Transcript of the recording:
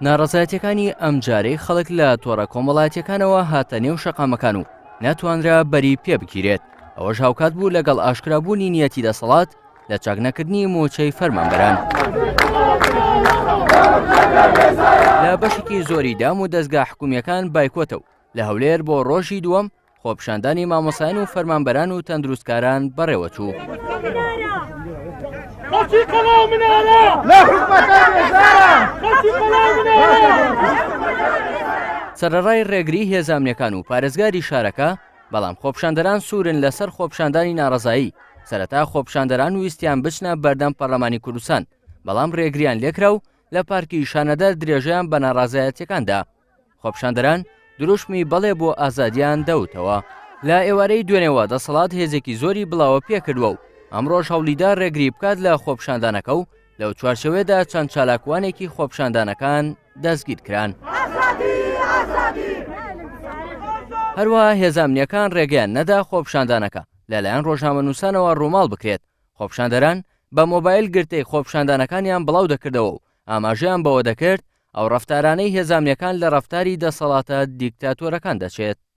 ناڕەزایەتیەکانی ئەمجارەی خەڵک لە تۆڕە کۆمەڵایەتیەکانەوە هاتە نێو شەقامەکان و نەتوانرا بەری پێ بگیرێت، ئەوەش هاوکات بوو لەگەڵ ئاشکرابوونی نیەتی دەسەڵات لە چاکنەکردنی مووچەی فەرمانبەران. لە بەشێکی زۆری دام و دەزگا حکومییەکان بایکۆتە و لە هەولێر بۆ ڕۆژی دووەم خۆپیشاندانی مامۆستایان و فەرمانبەران و تەندروستکاران بەڕێوەچوو. سەرەڕای ڕێگری هێزە ئەمنیەکان و پارێزگاری شارەکە، بەڵام خۆپیشاندەران سوورن لەسەر خۆپیشاندانی ناڕەزایی، سەرەتا خۆپیشاندەران ویستیان بچنە بەردەم پەرلەمانی کوردستان، بەڵام ڕێگریان لێکرا و لە پارکی شانەدەر درێژەیان بە ناڕازایەتیەکان دا. خۆپیشاندەران دروشمی بەڵێ بۆ ئازادیان دەوتەوە. لە ئێوارەی دوێنێوە دەسەڵات هێزێکی زۆری بڵاوە پێکردووە و ئەمڕۆش هەوڵیدا ڕێگری بکات لە خۆپیشاندانەکە و لەو چوارچێوەیەدا چەند چالاکوانێکی خۆپیشاندانەکان دەستگیرکران. هەروەها هێزە ئەمنییەکان ڕێگەیان نەدا خۆپیشاندانەکە لەلایەن ڕۆژنامەنووسانەوە ڕووماڵ بکرێت، خۆپیشاندەران بە مۆبایل گرتەی خۆپیشاندانەکانیان بڵاو دەکردەوە و ئاماژەیان بەوە دەکرد ئەو ڕەفتارانەی هێزە ئەمنییەکان لە ڕەفتاری دەسەڵاتە دیکتاتۆرەکان دەچێت.